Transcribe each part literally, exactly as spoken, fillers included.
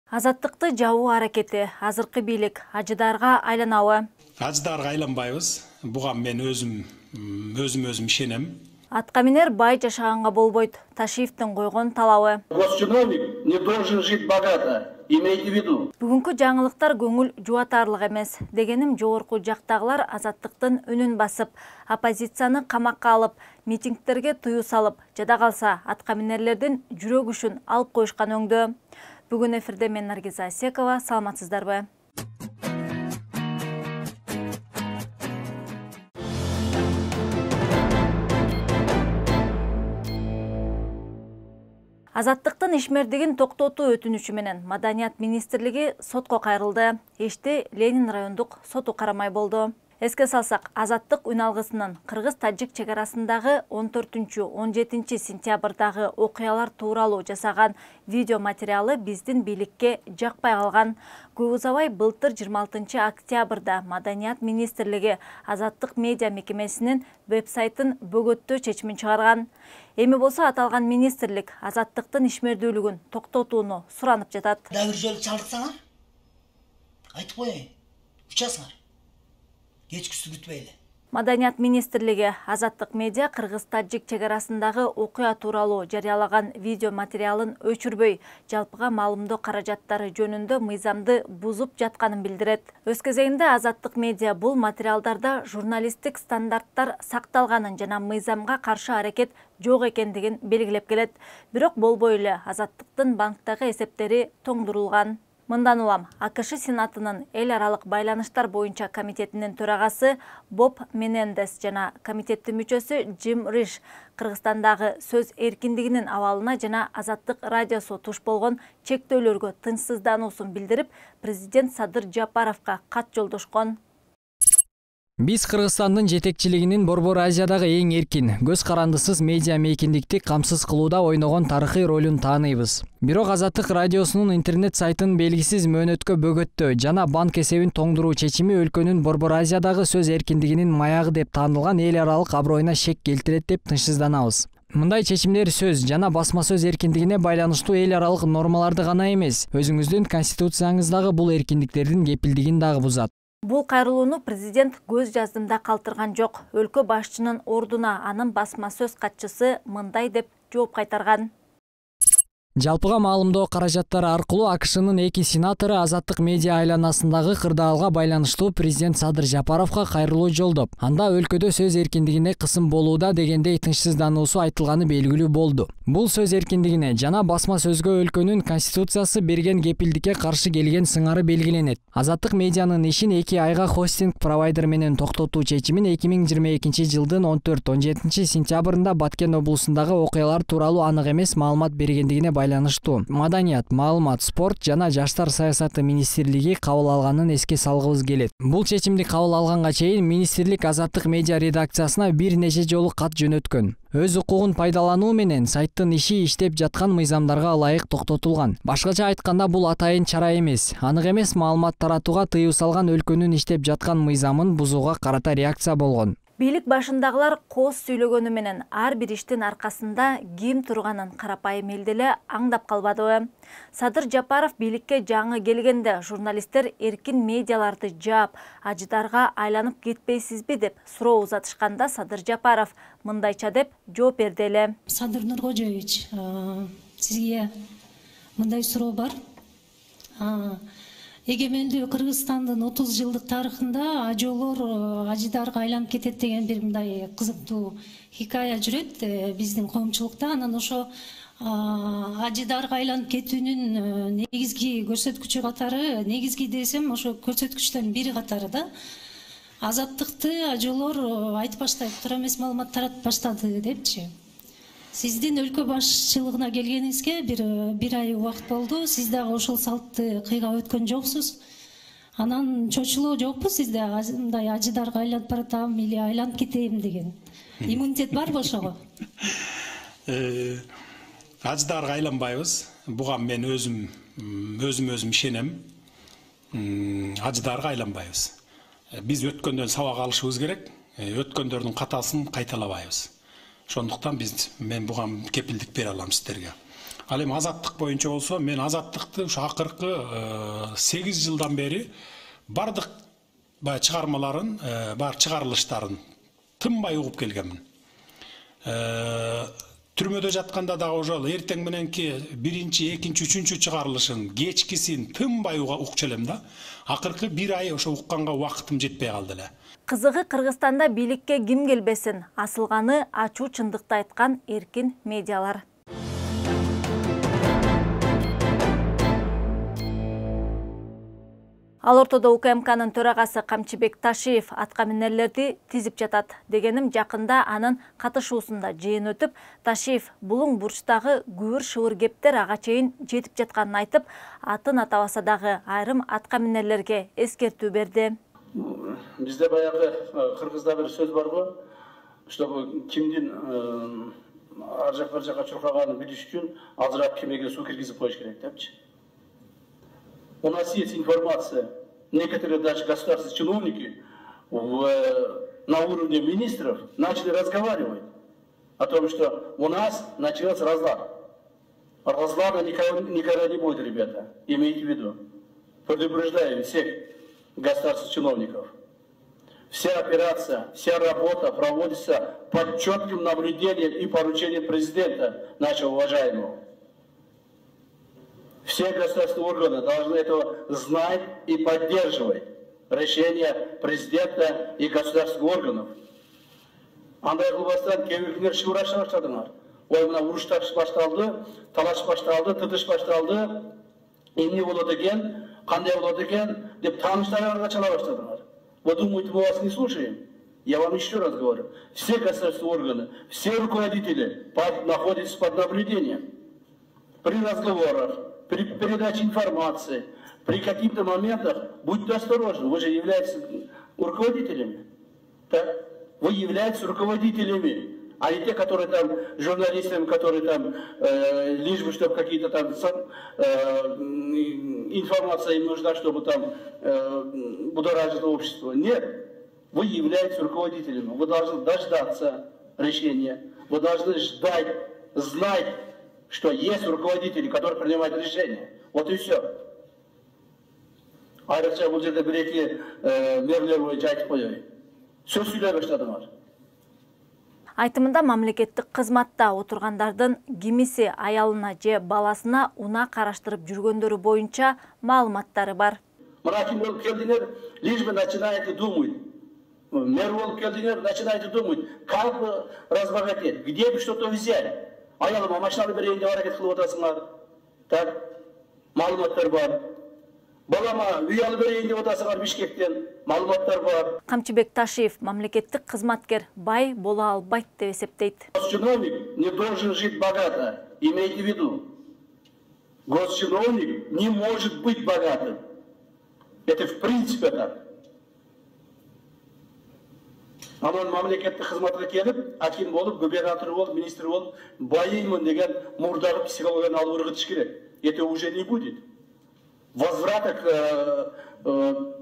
Азаттыкты жабуу аракети азыркы бийлик ажыдарга айланабы? Ажыдарга айланбайбыз. Буга мен өзүм өзүм өзүм ишенем. Атка минер бай жашаганга болбойт. Ташиевдин койгон талабы. Госчиновник не должен жить богато. Имейте в виду. Бүгүнкү жаңылыктар көңүл жубатарлык эмес. Дегеним жогорку жактагылар азаттыктын үнүн басып, оппозицияны камакка алып, митингдерге тыюу салып, жада калса атка минерлердин жүрөк күшүн алып коюшкан өңдө. Бүгүн эфирде мен Наргиза Асекова, саламатсыздарбы? Азаттыктын ишмердигин токтотуу өтүнүчү менен Маданият министрлиги сотко кайрылды. Ишти Ленин райондук соту карамай болду. Эске салсак, Азаттык үн алгысынын кыргыз-тажик чек арасындагы он төртүнчү — он жетинчи сентябрдагы окуялар тууралуу жасаган видео материалы биздин бийликке жакпай калган. Көп узабай былтыр жыйырма алтынчы октябрда Маданият министрлиги Азаттык медиа мекемесинин веб-сайтын бөгөттөө чечимин чыгарган. Эми болсо аталган министрлик Азаттыктын ишмердүүлүгүн токтотууну суранып жатат. Дагы бир жолу чалдыксаңар, айтып коеюн, учасыңар. Кечкүсү күтпөйлү. Маданият министрлиги Азаттык медиа кыргыз-тажик чек арасындагы окуя тууралуу жарыялаган видео материалын өчүрбөй, жалпыга маалымдоо каражаттары жөнүндө мыйзамды бузуп жатканын билдирет. Өз кезегинде Азаттык медиа бул материалдарда журналисттик стандарттар сакталганын жана мыйзамга каршы аракет жок экендигин белгилеп келет. Бирок болбой эле Азаттыктын банктагы эсептери тоңдурулган. Мындан улам АКШ Сенатынын эл аралык байланыштар боюнча комитетинин төрагасы Боб Менендес жана комитеттин мүчөсү Джим Риш Кыргызстандагы сөз эркиндигинин абалына жана Азаттык радиосу туш болгон чектөөлөргө тынчсыздануусун билдирип, президент Садыр Жапаровго кат жолдошкон. Биз Кыргызстандын жетекчилигинин Борбор Азиядагы эң эркин, көз карандысыз медиа мейкиндикти камсыз кылууда ойногон тарыхый ролун тааныйбыз. Бирок Азаттык радиосунун интернет сайтын белгисиз мөөнөткө бөгөттөө жана банк эсебин тоңдуруу чечими өлкөнүн Борбор Азиядагы сөз эркиндигинин маягы деп таанылган эл аралык аброюна шек келтирет деп тынчсызданабыз. Мындай чечимдер сөз жана басма сөз эркиндигине байланыштуу эл аралык нормаларды гана эмес, өзүңүздүн конституцияңыздагы бул эркиндиктердин кепилдигин дагы бузат. Бул кайрылууну президент көз жаздымда калтырган жок. Өлкө башчынын ордуна анын басма сөз катчысы мындай деп жооп кайтарган. Жалпыга маалымдоо каражаттары аркылуу АКШнын эки сенатору Азаттык медиа айланасындагы кырдаалга байланыштуу президент Садыр Жапаровго кайрылуу жолдоп, анда өлкөдө сөз эркиндигине кысым болууда дегендей тынчсыздануусу айтылганы белгилүү болду. Бул сөз эркиндигине жана басма сөзгө өлкөнүн конституциясы берген кепилдикке каршы келген сыңары белгиленет. Азаттык медианын ишин эки айга хостинг провайдер менен токтотуу чечимин эки миң жыйырма экинчи жылдын он төрт — он жетинчи сентябрында Баткен облусундагы окуялар тууралуу анык эмес маалымат бергендигине байланыштуу Маданият, маалымат, спорт жана жаштар саясаты министрлиги кабыл алганын эске салгыбыз келет. Бул чечимди кабыл алганга чейин министрлик Азаттык медиа редакциясына бир нече жолу кат жөнөткөн. Өз укугун пайдалануу менен сайттын иши иштеп жаткан мыйзамдарга ылайык токтотулган. Башкача айтканда бул атайын чара эмес, анык эмес маалымат таратууга тыюу салган өлкөнүн иштеп жаткан мыйзамын бузууга карата реакция болгон. Бийлик башындагылар кооз сүйлөгөнү менен ар бир иштин аркасында ким турганын карапайым эл деле аңдап калбадыбы? Садыр Жапаров бийликке жаңы келгенде журналисттер эркин медиаларды жаап, ажыдарга айланып кетпейсизби деп суроо узатышканда Садыр Жапаров мындайча деп жооп берди эле. Садыр Нуркожоевич, сизге мындай суроо бар. Эгемендүү Кыргызстандын отуз жылдык тарыхында ажоолор ажыдарга айланып кетет деген бир мындай кызыктуу хикая жүрөт биздин коомчулукта. Анан ошо ажыдарга айланып кетүүнүн негизги көрсөткүчү катары, негизги десем, ошо көрсөткүчтөрдүн бири катары да Азаттыкты ажоолор айтып баштайт, туура эмес маалымат таратып баштады депчи. Сиздин өлкө башчылыгына келгениңизге бир бир ай убакыт болду. Сиз дагы ошол салтты кыйгап өткөн жоксуз. Анан чочулоо жокпу сизде? Мындай ажыдарга айланып баратам или айланып кетейм деген. Иммунитет барбы ошого? Ажыдарга айланбайбыз. Буга мен өзүм өзүм өзүм ишенем. Ажыдарга айланбайбыз. Биз өткөндөн сабак алышыбыз керек. Өткөндөрдүн катасын кайталабайбыз. Ошондуктан биз мен буга кепилдик бере алам сиздерге. Ал эми азаттык боюнча болсо, мен азаттыкты ушу акыркы сегиз жылдан бери бардык баягы чыгармаларын, бар чыгарылыштарын тынбай угуп келгенмин. Түрмөдө жатканда дагы ошол эртең мененки биринчи, экинчи, үчүнчү чыгарылышын, кечкисин тынбай укчу элем да. Акыркы бир ай ошо укканга убактым жетпей калды эле. Кызыгы Кыргызстанда бийликке ким келбесин, асылганы ачуу чындыкты айткан эркин медиалар. Ал ортодо У К М К'нын төрагасы Камчыбек Ташиев атка минерлерди тизип жатат. Дегеним жакында анын катышуусунда жыйын өтүп, Ташиев булуң бурчтагы күбүр шыбыр кептер ага чейин жетип жатканын айтып, атын атабаса дагы айрым атка минерлерге эскертүү берди. Бизде баягы кыргызда бир сөз бар го, чтобы кимдин ар жак бир жака чуркаганын билиш үчүн азыраак кемеге суу киргизип коюш керек депчи. У нас есть информация, некоторые даже государственные чиновники в, на уровне министров начали разговаривать о том, что у нас начался разлад. Разлада никогда, никогда не будет, ребята, имейте в виду. Предупреждаю всех государственных чиновников. Вся операция, вся работа проводится под четким наблюдением и поручением президента, нашего уважаемого. Все государственные органы должны этого знать и поддерживать решения президента и государственных органов. Андай кылбастан кебекилер шыбыраша баштадыңар. Ой, мына уруштар башталды, талаш башталды, тытыш башталды, эмне болот экен, кандай болот экен деп тааныштарыңарга чала баштадыңар. Вы думаете, мы вас не слушаем? Я вам еще раз говорю, все государственные органы, все руководители под, находятся под наблюдением. При разговорах, при передаче информации, при каких-то моментах будьте осторожны. Вы же являетесь руководителями. Так? Вы являетесь руководителями, а не те, которые там, журналистами, которые там, э, лишь бы, чтобы какие-то там э, информация им нужна, чтобы там э, будоражить общество. Нет. Вы являетесь руководителями. Вы должны дождаться решения. Вы должны ждать, знать, что есть руководители, которые принимают решения. Вот и все. Айрыкча бул жерде бир-эки мерлер боюнча айтып коёюн. Сөз сүйлөй баштадыңар. Айтымында мамлекеттик кызматта отургандардын кимиси аялына же баласына унаа караштырып жүргөндөрү боюнча маалыматтары бар. Мына ким болуп келдиңер, лишь бы начинаете думать. Мэр болуп келдиңер, начинаете думать, как разбогатеть, где бы что-то взять. Аялыма машинаны берейин деп аракет кылып атасыңар. Так, маалыматтар бар. Балама үй алып берейин деп атасыңар Бишкектен. Маалыматтар бар. Камчыбек Ташиев мамлекеттик кызматкер бай боло албайт деп эсептейт. Госчиновник не должен жить богато. Имейте в виду. Госчиновник не может быть богатым. Это в принципе так. Анан мамлекеттик кызматка келип, аким болуп, губернатор болуп, министр болуп, байыймын деген мурдагы психологияны алып ыргытыш керек. Это уже не будет. Возврата к,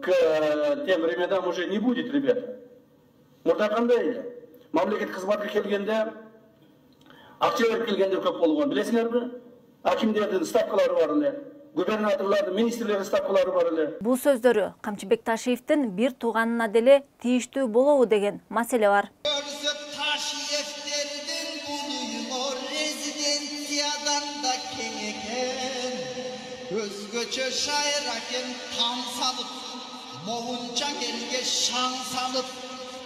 к тем временам уже не будет, ребята. Мурда кандай эле? Мамлекеттик кызматка келгенде, акча берип келгендер көп болгон, билесиңерби? Акимдердин ставкалары бар эле. Губернаторлардын, министрлердин ставкалары бар эле. Бул сөздөрү Камчыбек Ташиевдин бир тууганына деле тийиштүү болобу деген маселе бар. Ташиевдердин булуймо резиденциядан да кең экен. Өзгөчө шайракен там салып, могунчаң элге шаң салып,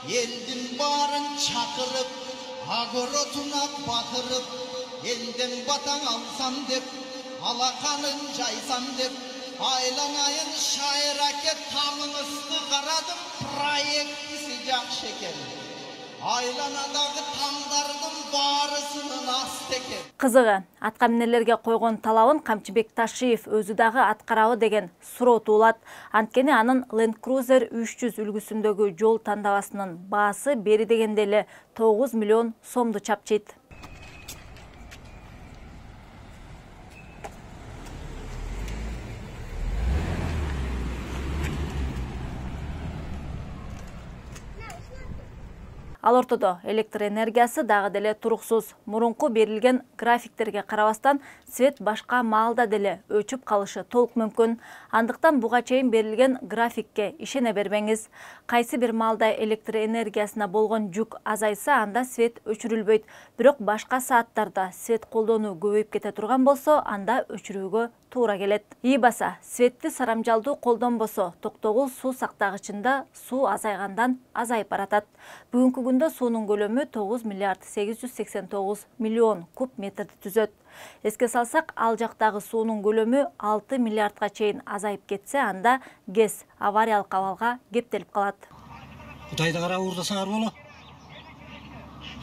элдин баарын чакырып, агоротуна батырып, элден батаң алсам деп, алаканын жайсам деп, айланайын шайраке таңыңызды карадым, проектisi жакшы экен. Айланадагы таңдардын баарысынын асты экен. Кызыгы, атка минерлерге койгон талабын Камчыбек Ташиев өзү дагы аткарабы деген суроо туулат. Анткени анын Land Cruiser үч жүз үлгүсүндөгү жол тандабасынын баасы бери дегенде эле тогуз миллион сомду чапчыйт. Ал ортодо электр энергиясы дагы деле туруксуз. Мурунку берилген графиктерге карабастан свет башка маалда деле өчүп калышы толук мүмкүн. Андыктан буга чейин берилген графикке ишене бербеңиз. Кайсы бир маалда электр энергиясына болгон жүк азайса, анда свет өчүрүлбөйт. Бирок башка сааттарда свет колдонуу көбөйүп кете турган болсо, анда өчүрүүгө туура келет. Ийбаса, светти сарамжалдуу колдонбосо, токтогул суу сактагычында суу азайгандан азайып баратат. Бүгүнкү күндө суунун көлөмү тогуз миллиард сегиз жүз сексен тогуз миллион куб метрди түзөт. Эске салсак, ал жактагы суунун көлөмү алты миллиардга чейин азайып кетсе, анда ГЭС авариялык абалга кептелип калат. Кудайды карап уурдасаңар боло.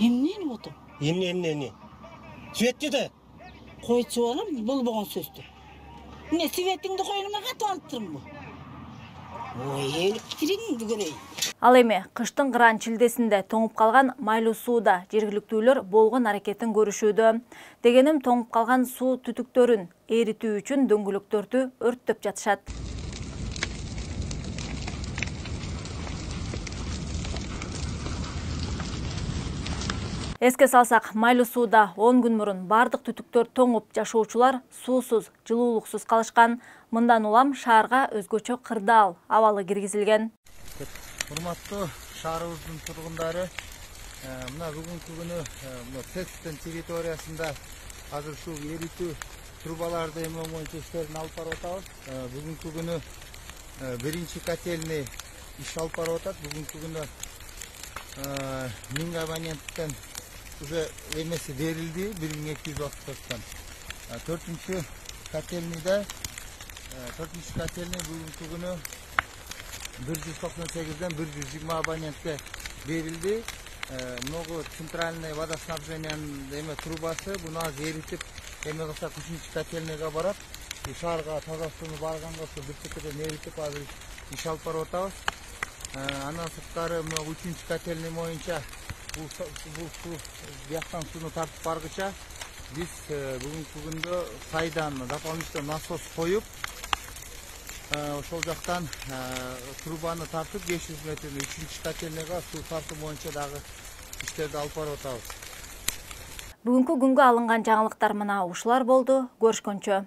Эмнени отур? Эмне эмне эмне? Светти да. Койчу балам, болбогон сөздү. Эмне светиңди койнума катып алыптырмбы? Ой, электриңди көрөй. Ал эми кыштын кыран чилдесинде тоңуп калган майлуу сууда жергиликтүүлөр болгон аракетин көрүшүүдө. Дегеним, тоңуп калган суу түтүктөрүн эритүү үчүн дөңгөлөктөрдү өрттөп жатышат. Эске салсак, майлуу сууда он күн мурун бардык түтүктөр тоңуп, жашоочулар суусуз, жылуулуксуз калышкан. Мындан улам шаарга өзгөчө кырдаал абалы киргизилген. Урматтуу шаарыбыздын тургундары, мына бүгүнкү күнү мына тесттин территориясында азыр ушул эритүү трубаларды эмне боюнча иштерин алып барып атабыз. Бүгүнкү күнү биринчи котельный иш алып барып атат. Бүгүнкү күнү миң абоненттен уже эмеси берилди, бир миң эки жүз отуз төрттөн. Төртүнчү котельныйда төртүнчү котельный бүгүнкү күнү бир жүз токсон сегизден бир жүз жыйырма абонентке берилди. Много центральный водоснабжениянын эме трубасы буну азыр эритип, эме кылсак үчүнчү котельныйга барат. Шаарга таза сууну барганга бир четеден эритип азыр иш алып барып атабыз. Андан сырткары мына үчүнчү котельный боюнча бул суу бияктан сууну тартып баргыча биз бүгүнкү күндө сайдан дополнительный насос коюп, ошол жактан трубаны тартып беш жүз метрден үчүнчү котельныйга суу тартуу боюнча дагы иштерди алып барып атабыз. Бүгүнкү күнгө алынган жаңылыктар мына ушулар болду. Көрүшкөнчө.